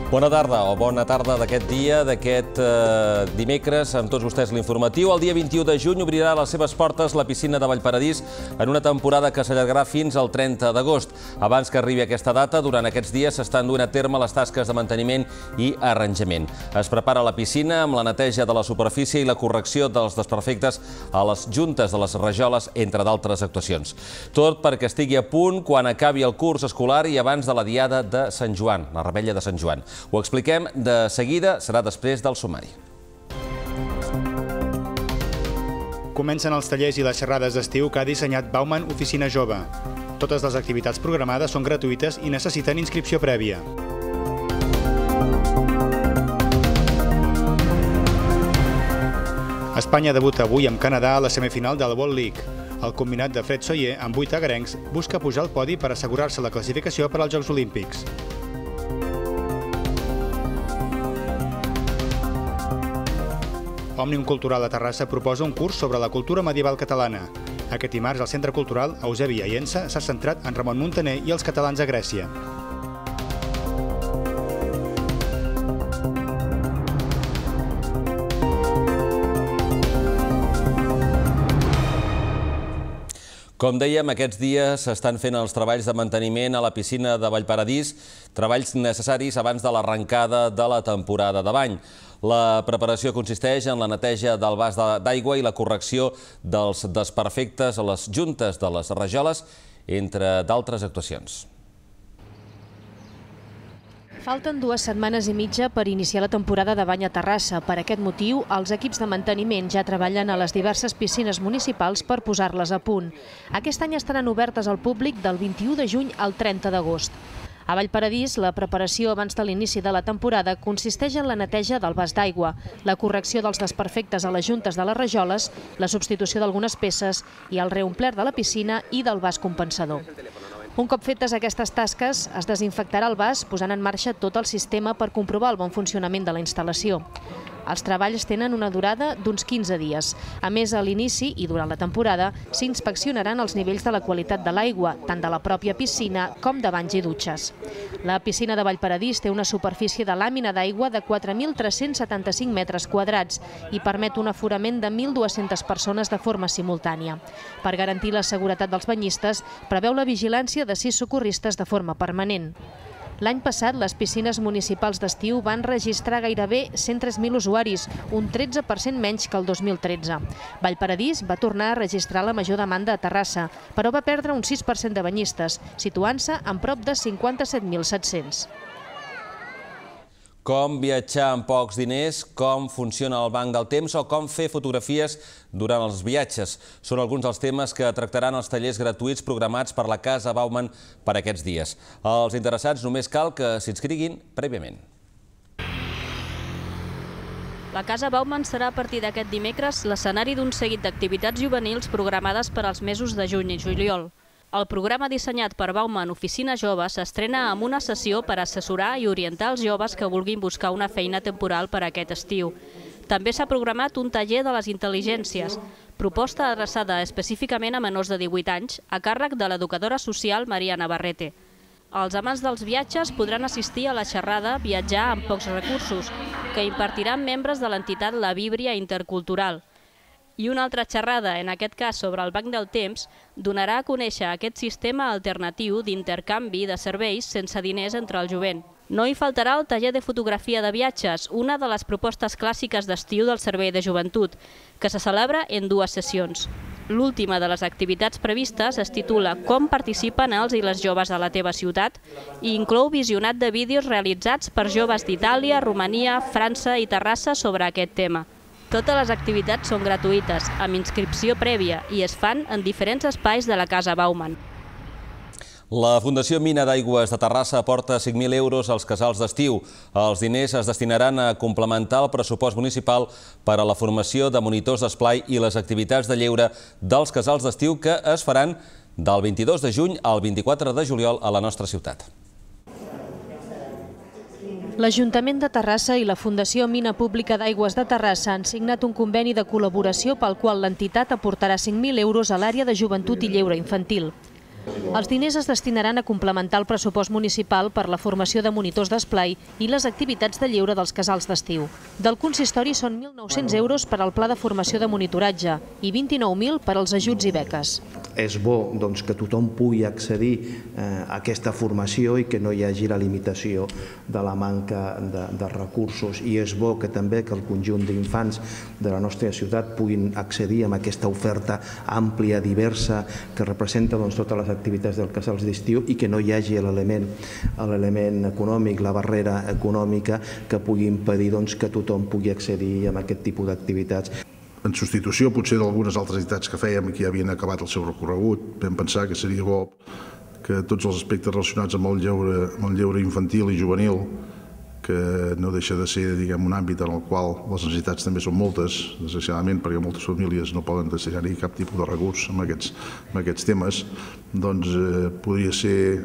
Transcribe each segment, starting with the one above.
Bona tarda o bona tarda d'aquest dia, d'aquest dimecres, amb tots vostès l'informatiu. El dia 21 de juny obrirà les seves portes la piscina de Vallparadís en una temporada que s'allargarà fins al 30 d'agost. Abans que arribi aquesta data, durant aquests dies s'estan duent a terme les tasques de manteniment i arranjament. Es prepara la piscina amb la neteja de la superfície i la correcció dels desperfectes a les juntes de les rajoles, entre d'altres actuacions. Tot perquè estigui a punt quan acabi el curs escolar i abans de la diada de Sant Joan, la revetlla de Sant Joan. Ho expliquem de seguida, serà després del sumari. Comencen els tallers i les xerrades d'estiu que ha dissenyat Bauman Oficina Jove. Totes les activitats programades són gratuïtes i necessiten inscripció prèvia. Espanya debuta avui amb Canadà a la semifinal de la World League. El combinat de Fred Soyer, amb 8 agrencs, busca pujar al podi per assegurar-se la classificació per als Jocs Olímpics. Òmnium Cultural a Terrassa proposa un curs sobre la cultura medieval catalana. Aquest dimarts, el Centre Cultural Eusebi Aiensa s'ha centrat en Ramon Muntaner i els catalans a Grècia. Com dèiem, aquests dies s'estan fent els treballs de manteniment a la piscina de Vallparadís, treballs necessaris abans de l'arrencada de la temporada de bany. La preparació consisteix en la neteja del vas d'aigua i la correcció dels desperfectes a les juntes de les rajoles, entre d'altres actuacions. Falten 2 setmanes i mitja per iniciar la temporada de bany a Terrassa. Per aquest motiu, els equips de manteniment ja treballen a les diverses piscines municipals per posar-les a punt. Aquest any estaran obertes al públic del 21 de juny al 30 d'agost. A Vallparadís, la preparació abans de l'inici de la temporada consisteix en la neteja del vas d'aigua, la correcció dels desperfectes a les juntes de les rajoles, la substitució d'algunes peces i el reomplert de la piscina i del vas compensador. Un cop fetes aquestes tasques, es desinfectarà el vas posant en marxa tot el sistema per comprovar el bon funcionament de la instal·lació. Els treballs tenen una durada d'uns 15 dies. A més, a l'inici i durant la temporada s'inspeccionaran els nivells de la qualitat de l'aigua, tant de la pròpia piscina com de banys i dutxes. La piscina de Vallparadís té una superfície de làmina d'aigua de 4.375 metres quadrats i permet un aforament de 1.200 persones de forma simultània. Per garantir la seguretat dels banyistes, preveu la vigilància de 6 socorristes de forma permanent. L'any passat, les piscines municipals d'estiu van registrar gairebé 103.000 usuaris, un 13% menys que el 2013. Vallparadís va tornar a registrar la major demanda a Terrassa, però va perdre un 6% de banyistes, situant-se en prop de 57.700. Com viatjar amb pocs diners, com funciona el banc del temps o com fer fotografies durant els viatges. Són alguns dels temes que tractaran els tallers gratuïts programats per la Casa Bauman per aquests dies. Els interessats només cal que s'inscriguin prèviament. La Casa Bauman serà a partir d'aquest dimecres l'escenari d'un seguit d'activitats juvenils programades per als mesos de juny i juliol. El programa dissenyat per Bauman Oficina Jove s'estrena amb una sessió per assessorar i orientar els joves que vulguin buscar una feina temporal per a aquest estiu. També s'ha programat un taller de les intel·ligències, proposta adreçada específicament a menors de 18 anys, a càrrec de l'educadora social Maria Navarrete. Els amants dels viatges podran assistir a la xerrada Viatjar amb pocs recursos, que impartiran membres de l'entitat La Víbria Intercultural. I una altra xerrada, en aquest cas sobre el banc del temps, donarà a conèixer aquest sistema alternatiu d'intercanvi de serveis sense diners entre el jovent. No hi faltarà el taller de fotografia de viatges, una de les propostes clàssiques d'estiu del Servei de Joventut, que se celebra en 2 sessions. L'última de les activitats previstes es titula Com participen els i les joves a la teva ciutat i inclou visionat de vídeos realitzats per joves d'Itàlia, Romania, França i Terrassa sobre aquest tema. Totes les activitats són gratuïtes, amb inscripció prèvia, i es fan en diferents espais de la Casa Bauman. La Fundació Mina d'Aigües de Terrassa aporta 5.000 euros als casals d'estiu. Els diners es destinaran a complementar el pressupost municipal per a la formació de monitors d'esplai i les activitats de lleure dels casals d'estiu que es faran del 22 de juny al 24 de juliol a la nostra ciutat. L'Ajuntament de Terrassa i la Fundació Mina Pública d'Aigües de Terrassa han signat un conveni de col·laboració pel qual l'entitat aportarà 5.000 euros a l'àrea de joventut i lleure infantil. Els diners es destinaran a complementar el pressupost municipal per la formació de monitors d'esplai i les activitats de lleure dels casals d'estiu. Del consistori són 1.900 euros per al pla de formació de monitoratge i 29.000 per als ajuts i beques. És bo que tothom pugui accedir a aquesta formació i que no hi hagi la limitació de la manca de recursos. I és bo que també el conjunt d'infants de la nostra ciutat puguin accedir a aquesta oferta àmplia, diversa, que representa totes les activitats dels casals d'estiu i que no hi hagi l'element econòmic, la barrera econòmica que pugui impedir que tothom pugui accedir a aquest tipus d'activitats. En substitució potser d'algunes altres entitats que fèiem i que ja havien acabat el seu recorregut, vam pensar que seria bo que tots els aspectes relacionats amb el lleure infantil i juvenil, que no deixa de ser un àmbit en el qual les necessitats també són moltes, desgraciadament, perquè moltes famílies no poden destinar-hi cap tipus de recurs en aquests temes, doncs podria ser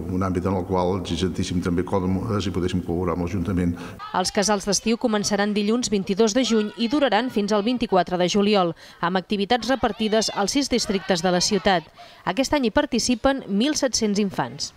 un àmbit en el qual ens hi sentíssim també còmodes i podéssim col·laborar amb l'Ajuntament. Els casals d'estiu començaran dilluns 22 de juny i duraran fins al 24 de juliol, amb activitats repartides als 6 districtes de la ciutat. Aquest any hi participen 1.700 infants.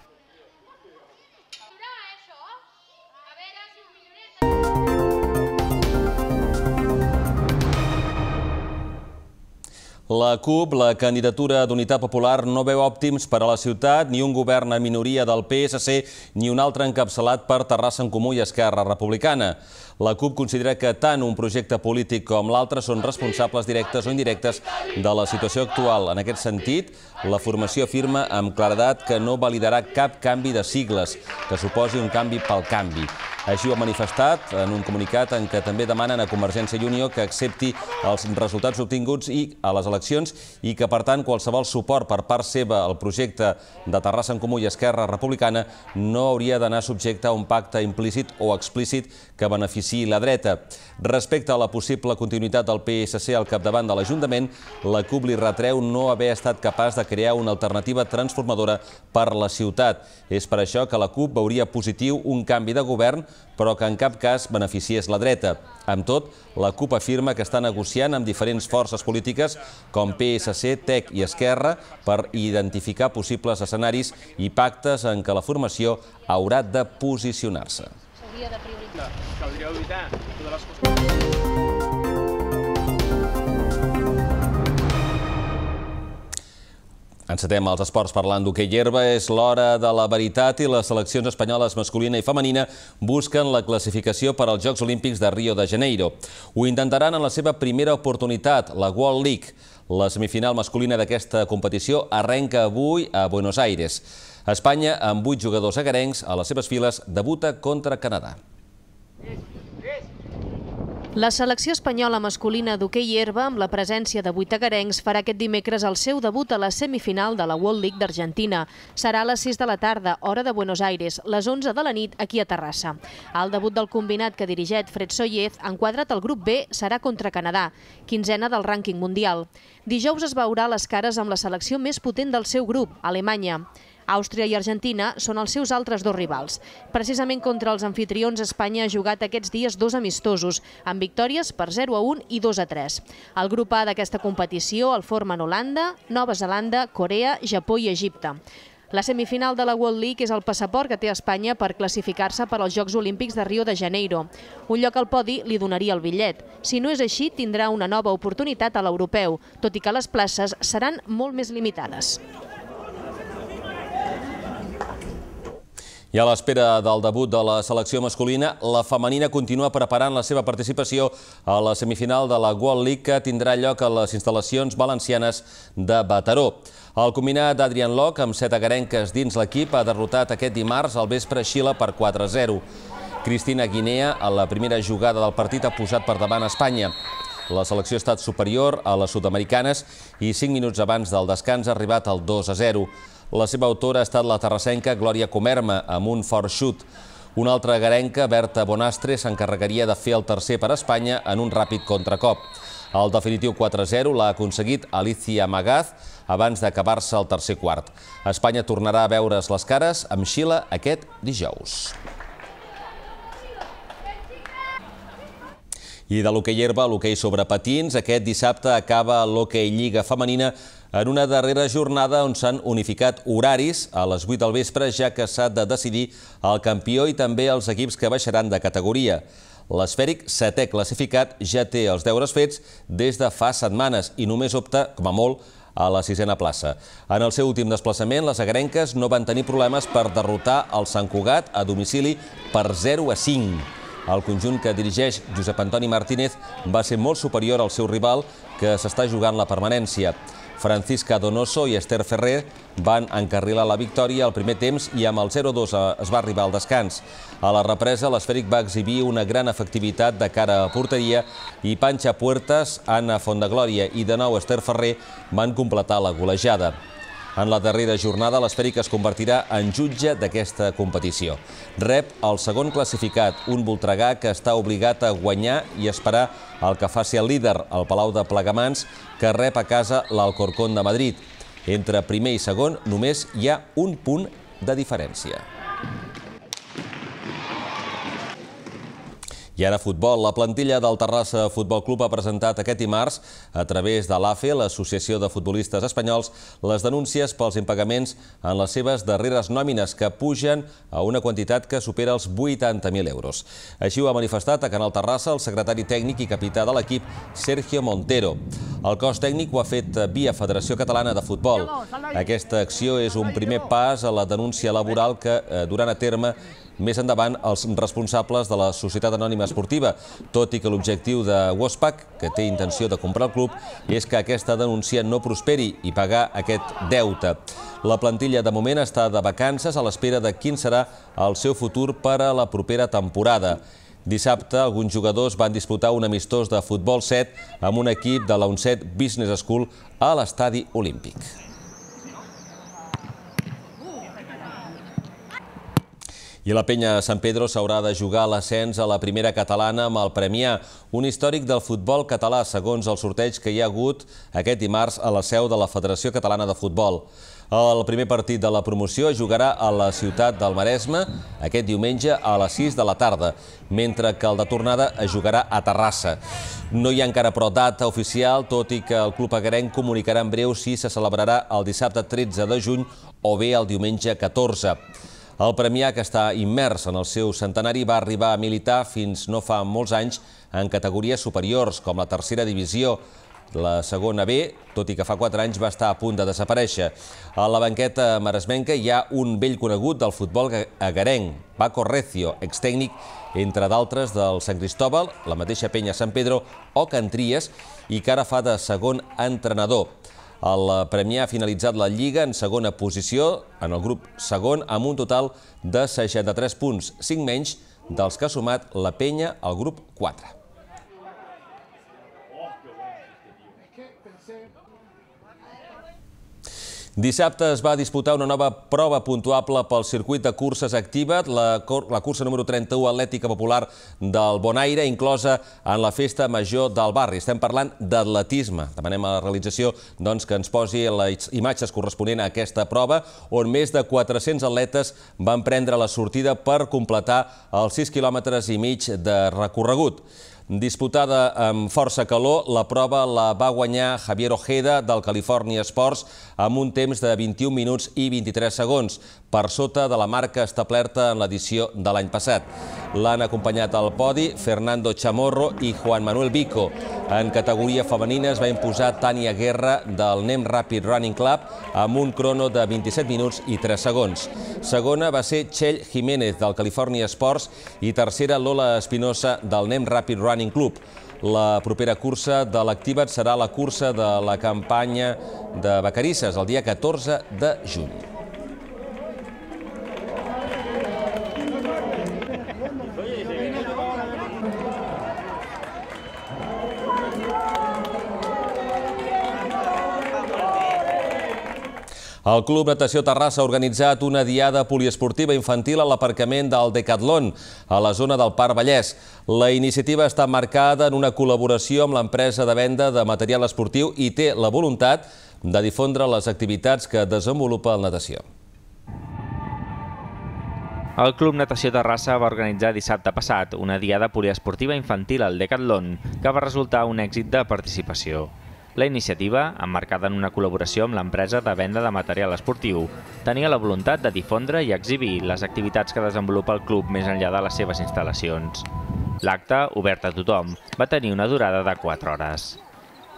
La CUP, la candidatura d'Unitat Popular, no veu òptims per a la ciutat ni un govern en minoria del PSC ni un altre encapçalat per Terrassa en Comú i Esquerra Republicana. La CUP considera que tant un projecte polític com l'altre són responsables directes o indirectes de la situació actual. En aquest sentit, la formació afirma amb claredat que no validarà cap canvi de sigles, que suposi un canvi pel canvi. Així ho ha manifestat en un comunicat en què també demanen a Convergència i Unió que accepti els resultats obtinguts a les eleccions i que, per tant, qualsevol suport per part seva al projecte de Terrassa en Comú i Esquerra Republicana no hauria d'anar subjecte a un pacte implícit o explícit que beneficiï la dreta. Respecte a la possible continuïtat del PSC al capdavant de l'Ajuntament, la CUP li retreu no haver estat capaç de crear una alternativa transformadora per la ciutat. És per això que la CUP veuria positiu un canvi de govern, però que en cap cas beneficiés la dreta. Amb tot, la CUP afirma que està negociant amb diferents forces polítiques com PSC, TEC i Esquerra per identificar possibles escenaris i pactes en què la formació haurà de posicionar-se. Caldria evitar totes les coses. Encetem els esports parlant d'hoquei herba. És l'hora de la veritat i les seleccions espanyoles masculina i femenina busquen la classificació per als Jocs Olímpics de Rio de Janeiro. Ho intentaran en la seva primera oportunitat, la World League. La semifinal masculina d'aquesta competició arrenca avui a Buenos Aires. Espanya, amb 8 jugadors agarencs a les seves files, debuta contra Canadà. La selecció espanyola masculina d'hoquei herba, amb la presència de 8 agarencs, farà aquest dimecres el seu debut a la semifinal de la World League d'Argentina. Serà a les 6 de la tarda, hora de Buenos Aires, les 11 de la nit aquí a Terrassa. El debut del combinat que dirigeix Fred Sollez, enquadrat al grup B, serà contra Canadà, 15ena del rànquing mundial. Dijous es veurà les cares amb la selecció més potent del seu grup, Alemanya. Àustria i Argentina són els seus altres dos rivals. Precisament contra els anfitrions, Espanya ha jugat aquests dies 2 amistosos, amb victòries per 0-1 i 2-3. El grup A d'aquesta competició el formen Holanda, Nova Zelanda, Corea, Japó i Egipte. La semifinal de la World League és el passaport que té Espanya per classificar-se per als Jocs Olímpics de Rio de Janeiro. Un lloc al podi li donaria el bitllet. Si no és així, tindrà una nova oportunitat a l'europeu, tot i que les places seran molt més limitades. I a l'espera del debut de la selecció masculina, la femenina continua preparant la seva participació a la semifinal de la World League que tindrà lloc a les instal·lacions valencianes de Mataró. El combinat d'Adrian Locke, amb 7 agarenques dins l'equip, ha derrotat aquest dimarts al vespre Xile per 4-0. Cristina Guinea, a la primera jugada del partit, ha posat per davant Espanya. La selecció ha estat superior a les sud-americanes i 5 minuts abans del descans ha arribat al 2-0. La seva autora ha estat la terrassenca Glòria Comerma, amb un fort xut. Una altra agarenca, Berta Bonastre, s'encarregaria de fer el tercer per Espanya en un ràpid contracop. El definitiu 4-0 l'ha aconseguit Alicia Magaz abans d'acabar-se el tercer quart. Espanya tornarà a veure's les cares amb Xile aquest dijous. I de l'hoquei herba a l'hoquei sobre patins, aquest dissabte acaba l'hoquei Lliga Femenina en una darrera jornada on s'han unificat horaris a les 8 del vespre, ja que s'ha de decidir el campió i també els equips que baixaran de categoria. L'Esfèric, setè classificat, ja té els deures fets des de fa setmanes i només opta, com a molt, a la sisena plaça. En el seu últim desplaçament, les agarenques no van tenir problemes per derrotar el Sant Cugat a domicili per 0-5. El conjunt que dirigeix Josep Antoni Martínez va ser molt superior al seu rival, que s'està jugant la permanència. Francisca Donoso i Esther Ferrer van encarrilar la victòria al primer temps i amb el 0-2 es va arribar al descans. A la represa, l'Esfèric va exhibir una gran efectivitat de cara a porteria i Panxa Puertas, Anna Fondeglòria i de nou Esther Ferrer van completar la golejada. En la darrera jornada, l'Esfèric es convertirà en jutge d'aquesta competició. Rep el segon classificat, un Voltregà que està obligat a guanyar i esperar el que faci el líder, el Palau de Plegamans, que rep a casa l'Alcorcón de Madrid. Entre primer i segon només hi ha un punt de diferència. I ara futbol. La plantilla del Terrassa Futbol Club ha presentat aquest dimarts, a través de l'AFE, l'Associació de Futbolistes Espanyols, les denúncies pels impagaments en les seves darreres nòmines, que pugen a una quantitat que supera els 80.000 euros. Així ho ha manifestat a Canal Terrassa el secretari tècnic i capità de l'equip, Sergio Montero. El cos tècnic ho ha fet via Federació Catalana de Futbol. Aquesta acció és un primer pas a la denúncia laboral que duran a terme més endavant els responsables de la Societat Anònima Esportiva, tot i que l'objectiu de Wospac, que té intenció de comprar el club, és que aquesta denúncia no prosperi i pagar aquest deute. La plantilla de moment està de vacances a l'espera de quin serà el seu futur per a la propera temporada. Dissabte, alguns jugadors van disputar un amistós de futbol 7 amb un equip de la UNCET Business School a l'Estadi Olímpic. I la Penya Sant Pedro s'haurà de jugar l'ascens a la primera catalana amb el Premià, un històric del futbol català, segons el sorteig que hi ha hagut aquest dimarts a la seu de la Federació Catalana de Futbol. El primer partit de la promoció es jugarà a la ciutat del Maresme aquest diumenge a les 6 de la tarda, mentre que el de tornada es jugarà a Terrassa. No hi ha encara però data oficial, tot i que el club agarenc comunicarà en breu si se celebrarà el dissabte 13 de juny o bé el diumenge 14. El Premià, que està immers en el seu centenari, va arribar a militar fins no fa molts anys en categories superiors, com la tercera divisió. La segona B, tot i que fa 4 anys va estar a punt de desaparèixer. A la banqueta maresmenca hi ha un vell conegut del futbol agarenc, Paco Recio, extècnic, entre d'altres, del Sant Cristóbal, la mateixa Penya Sant Pedro o Can Tries, i que ara fa de segon entrenador. El Premià ha finalitzat la Lliga en segona posició, en el grup segon, amb un total de 63 punts, 5 menys dels que ha sumat la Penya al grup 4. Dissabte es va disputar una nova prova puntuable pel circuit de curses Activa't, la cursa número 31 Atlètica Popular del Bonaire, inclosa en la festa major del barri. Estem parlant d'atletisme. Demanem a la realització que ens posi les imatges corresponents a aquesta prova, on més de 400 atletes van prendre la sortida per completar els 6,5 quilòmetres de recorregut. Disputada amb força calor, la prova la va guanyar Javier Ojeda del California Sports amb un temps de 21 minuts i 23 segons, per sota de la marca establerta en l'edició de l'any passat. L'han acompanyat al podi Fernando Chamorro i Juan Manuel Vico. En categoria femenina es va imposar Tània Guerra del Nem Rapid Running Club amb un crono de 27 minuts i 3 segons. Segona va ser Txell Jiménez del California Sports i tercera Lola Espinosa del Nem Rapid Running Club. La propera cursa de l'Activa't serà la cursa de la campanya de Vacarisses, el dia 14 de juny. El Club Natació Terrassa ha organitzat una diada poliesportiva infantil a l'aparcament del Decathlon, a la zona del Parc Vallès. La iniciativa està marcada en una col·laboració amb l'empresa de venda de material esportiu i té la voluntat de difondre les activitats que desenvolupa el natació. El Club Natació Terrassa va organitzar dissabte passat una diada poliesportiva infantil al Decathlon, que va resultar un èxit de participació. La iniciativa, emmarcada en una col·laboració amb l'empresa de venda de material esportiu, tenia la voluntat de difondre i exhibir les activitats que desenvolupa el club més enllà de les seves instal·lacions. L'acte, obert a tothom, va tenir una durada de 4 hores.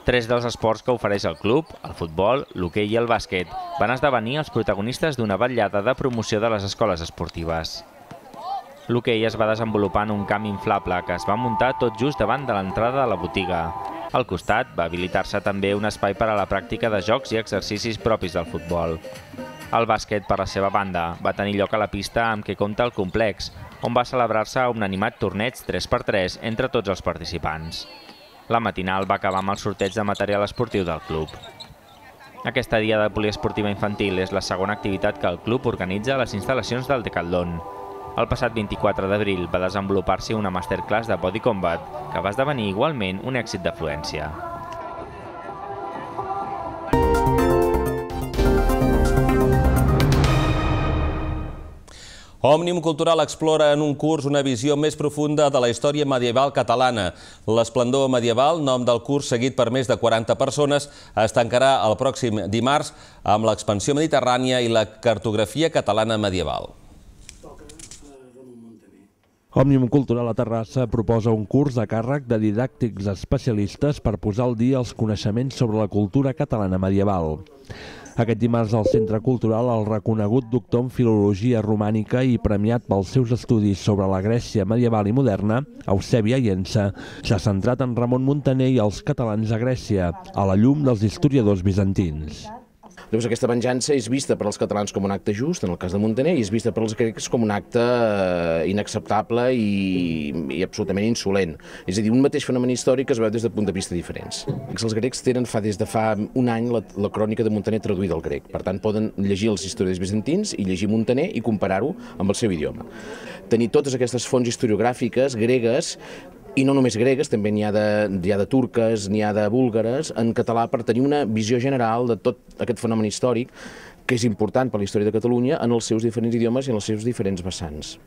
3 dels esports que ofereix el club, el futbol, l'hoquei i el bàsquet, van esdevenir els protagonistes d'una vetllada de promoció de les escoles esportives. L'hoquei es va desenvolupar en un camp inflable que es va muntar tot just davant de l'entrada de la botiga. Al costat va habilitar-se també un espai per a la pràctica de jocs i exercicis propis del futbol. El bàsquet, per la seva banda, va tenir lloc a la pista amb què compta el complex, on va celebrar-se un animat torneig 3x3 entre tots els participants. La matinal va acabar amb el sorteig de material esportiu del club. Aquesta diada poliesportiva infantil és la segona activitat que el club organitza a les instal·lacions del Decathlon. El passat 24 d'abril va desenvolupar-s'hi una masterclass de Body Combat, que va esdevenir igualment un èxit d'afluència. Òmnium Cultural explora en un curs una visió més profunda de la història medieval catalana. L'esplendor medieval, nom del curs seguit per més de 40 persones, es tancarà el pròxim dimarts amb l'expansió mediterrània i la cartografia catalana medieval. Òmnium Cultural a Terrassa proposa un curs a càrrec de didàctics especialistes per posar al dia els coneixements sobre la cultura catalana medieval. Aquest dimarts al Centre Cultural, el reconegut doctor en Filologia Romànica i premiat pels seus estudis sobre la Grècia medieval i moderna, Eusebi Aiensa, s'ha centrat en Ramon Muntaner i els catalans a Grècia, a la llum dels historiadors bizantins. Llavors, aquesta venjança és vista per als catalans com un acte just, en el cas de Muntaner, i és vista per als grecs com un acte inacceptable i absolutament insolent. És a dir, un mateix fenomen històric es veu des de punts de vista diferents. Els grecs tenen des de fa un any la crònica de Muntaner traduïda al grec. Per tant, poden llegir els historiadors bizantins i llegir Muntaner i comparar-ho amb el seu idioma. Tenir totes aquestes fonts historiogràfiques gregues, i no només gregues, també n'hi ha de turques, n'hi ha de búlgares, en català, per tenir una visió general de tot aquest fenomen històric que és important per la història de Catalunya en els seus diferents idiomes i en els seus diferents vessants.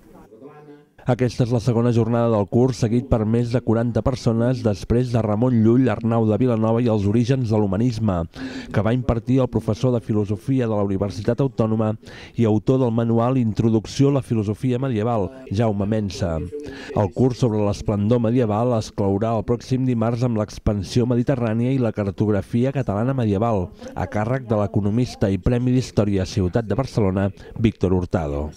Aquesta és la segona jornada del curs, seguit per més de 40 persones després de Ramon Llull, Arnau de Vilanova i els orígens de l'humanisme, que va impartir el professor de Filosofia de la Universitat Autònoma i autor del manual Introducció a la Filosofia Medieval, Jaume Mensa. El curs sobre l'esplendor medieval es clourà el pròxim dimarts amb l'expansió mediterrània i la cartografia catalana medieval, a càrrec de l'economista i Premi d'Història Ciutat de Barcelona, Víctor Hurtado.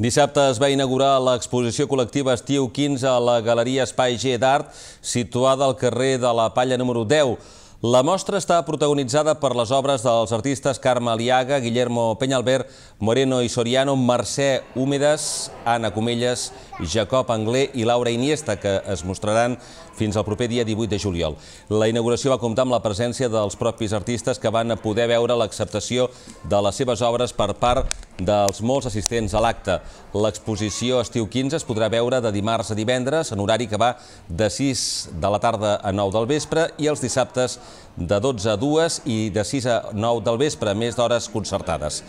Dissabte es va inaugurar l'exposició col·lectiva Estiu 15 a la Galeria Espai G d'Art, situada al carrer de la Palla número 10. La mostra està protagonitzada per les obres dels artistes Carme Aliaga, Guillermo Peñalver, Moreno i Soriano, Mercè Húmedes, Anna Comelles, Jacob Anglé i Laura Iniesta, que es mostraran fins al proper dia 18 de juliol. La inauguració va comptar amb la presència dels propis artistes que van poder veure l'acceptació de les seves obres per part dels molts assistents a l'acte. L'exposició Estiu 15 es podrà veure de dimarts a divendres, en horari que va de 6 de la tarda a 9 del vespre i els dissabtes de 12 a 2 i de 6 a 9 del vespre, més d'hores concertades.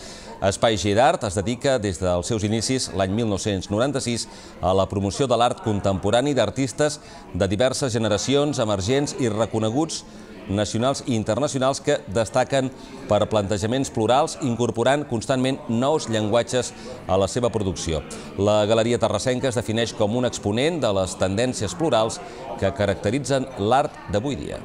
Espai G d'Art es dedica des dels seus inicis, l'any 1996, a la promoció de l'art contemporani d'artistes de diverses generacions, emergents i reconeguts nacionals i internacionals que destaquen per plantejaments plurals, incorporant constantment nous llenguatges a la seva producció. La Galeria Terrassenca es defineix com un exponent de les tendències plurals que caracteritzen l'art d'avui dia.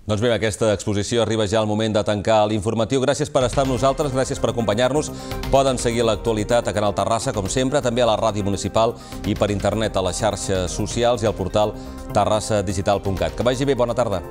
Doncs bé, aquesta exposició arriba ja al moment de tancar l'informatiu. Gràcies per estar amb nosaltres, gràcies per acompanyar-nos. Poden seguir l'actualitat a Canal Terrassa, com sempre, també a la ràdio municipal i per internet a les xarxes socials i al portal terrassadigital.cat. Que vagi bé, bona tarda.